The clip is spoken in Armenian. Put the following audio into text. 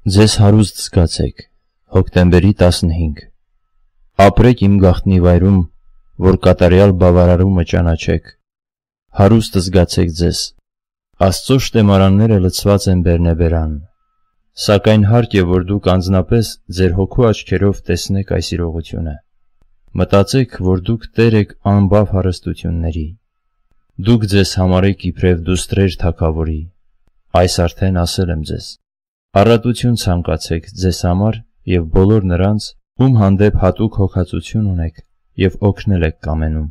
Ձեզ հարուստ զգացեք, հոկտեմբերի 15 Ապրեք իմ գաղտնի վայրում, որ կատարյալ բավարարումը ճանաչեք, հարուստ զգացեք ձեզ, Աստծո շտեմարանները լցված են բերնեբերան, սակայն հարկ է, որ դուք անձնապես ձեր հոգու աչքերով տեսնեք այս իրողությունը, մտածեք, որ դուք տեր եք անբավ հարստությունների, դուք ձեզ համարեք իբրև դուստրեր թագավորի, այս արդեն ասել եմ ձեզ, առատություն ցանկացեք ձեզ համար և բոլոր նրանց, ում հանդեպ հատուկ հոգածություն ունեք և օգնել եք կամենում,